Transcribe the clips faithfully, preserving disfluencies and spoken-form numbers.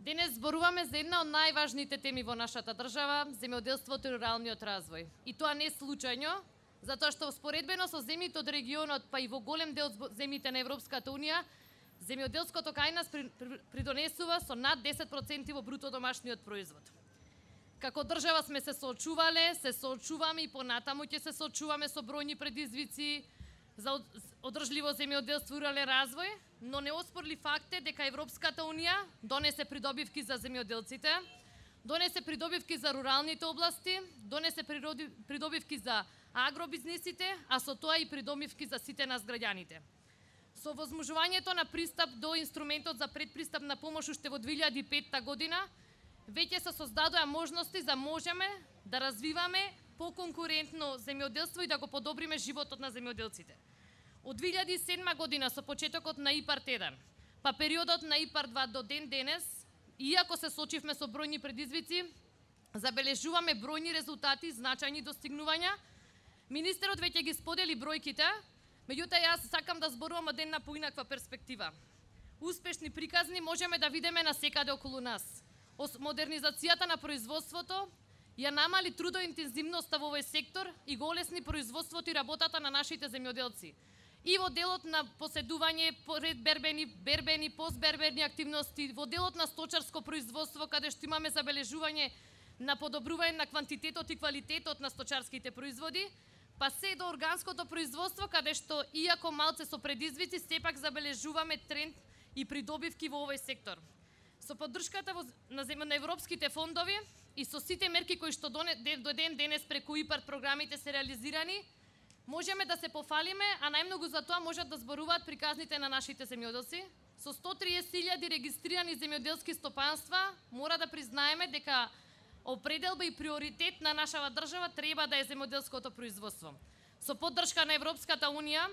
Денес зборуваме за една од најважните теми во нашата држава, земјоделството и руралниот развој. И тоа не случајно, затоа што споредбено со земјите од регионот, па и во голем дел земјите на Европската унија, земјоделското кај нас придонесува со над десет проценти во бруто домашниот производ. Како држава сме се соочувале, се соочуваме и понатаму ќе се соочуваме со бројни предизвици за одржливо земјоделство и рурален развој, но неоспорли факт е дека Европската унија донесе придобивки за земјоделците, донесе придобивки за руралните области, донесе придобивки за агробизнисите, а со тоа и придобивки за сите нас граѓаните. Со возможувањето на пристап до инструментот за предпристапна помош уште во две илјади и петта година, веќе се создадоа можности за можеме да развиваме поконкурентно земјоделство и да го подобриме животот на земјоделците. Од две илјади и седма година со почетокот на ИПАРД еден, па периодот на ИПАРД два до ден денес, иако се соочивме со бројни предизвици, забележуваме бројни резултати, значајни достигнувања. Министерот веќе ги сподели бројките, меѓутоа јас сакам да зборувам од една поинаква перспектива. Успешни приказни можеме да видиме насекаде околу нас. Модернизацијата на производството ја намали трудоинтензивноста во овој сектор и го олесни производството и работата на нашите земјоделци. И во делот на поседување, предбербени, бербени, постбербени активности, во делот на сточарско производство, каде што имаме забележување на подобрување на квантитетот и квалитетот на сточарските производи, па се до органското производство, каде што, иако малце со предизвици, сепак забележуваме тренд и придобивки во овој сектор. Со поддршката на, на европските фондови и со сите мерки кои што до ден денес преку ИПАРД програмите се реализирани, можеме да се пофалиме, а најмногу за тоа можат да зборуваат приказните на нашите земјоделци. Со сто и триесет илјади регистрирани земјоделски стопанства, мора да признаеме дека определба и приоритет на нашава држава треба да е земјоделското производство. Со поддршка на Европската унија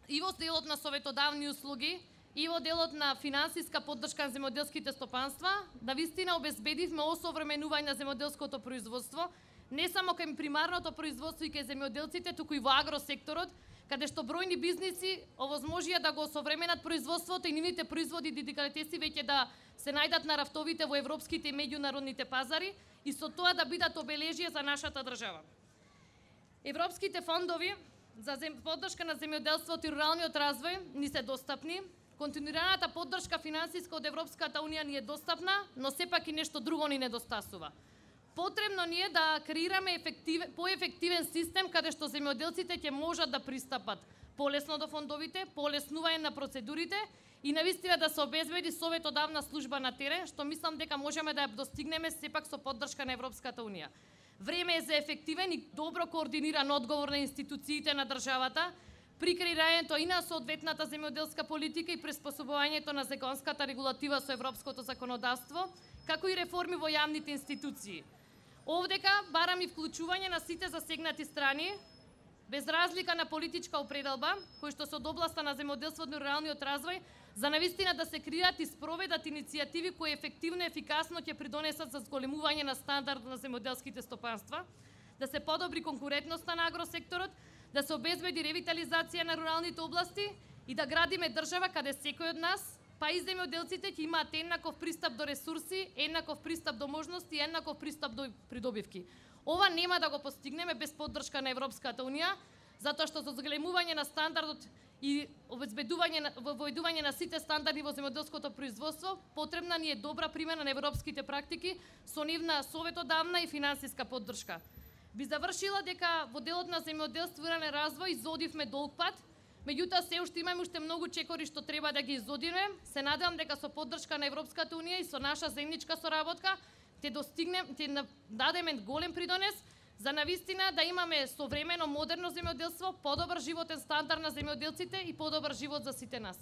и во делот на советодавни услуги, и во делот на финансиска поддршка на земјоделските стопанства, да вистина обезбедивме осовременување на земјоделското производство, не само кај примарното производство и кај земјоделците, туку и во агросекторот, каде што бројни бизниси овозможија да го осовременат производството и нивните производи и деликатеси веќе да се најдат на рафтовите во европските и меѓународните пазари и со тоа да бидат обележие за нашата држава. Европските фондови за поддршка на земјоделството и руралниот развој ни се достапни. Континуираната поддршка финансиска од Европската унија ни е достапна, но сепак и нешто друго ни недостасува. Потребно ни е да креираме ефективен, поефективен систем каде што земјоделците ќе можат да пристапат полесно до фондовите, полеснување на процедурите и навистина да се обезбеди советодавна служба на терен, што мислам дека можеме да ја достигнеме сепак со поддршка на Европската унија. Време е за ефективен и добро координиран одговор на институциите на државата при креирањето и на соодветната земјоделска политика и приспособувањето на законската регулатива со европското законодавство, како и реформи во јавните институции. Овдека барам и вклучување на сите засегнати страни, без разлика на политичка определба, кои што се од областа на земјоделството и руралниот развој, за навистина да се креират и спроведат иницијативи кои ефективно и ефикасно ќе придонесат за зголемување на стандард на земјоделските стопанства, да се подобри конкурентноста на агросекторот, да се обезбеди ревитализација на руралните области и да градиме држава каде секој од нас, па и земјоделците ќе имаат еднаков пристап до ресурси, еднаков пристап до можности и еднаков пристап до придобивки. Ова нема да го постигнеме без поддршка на Европската унија, затоа што за зголемување на стандардот и обезбедување на војдување на сите стандарди во земјоделското производство, потребна ни е добра примена на европските практики со нивна советодавна и финансиска поддршка. Би завршила дека во делот на земјоделство и рурален развој изодивме долг пат, меѓутоа се уште имаме уште многу чекори што треба да ги изодиме. Се надевам дека со поддршка на Европската унија и со наша заедничка соработка ќе достигнем, ќе дадеме голем придонес за навистина да имаме современо модерно земјоделство, подобар животен стандард на земјоделците и подобар живот за сите нас.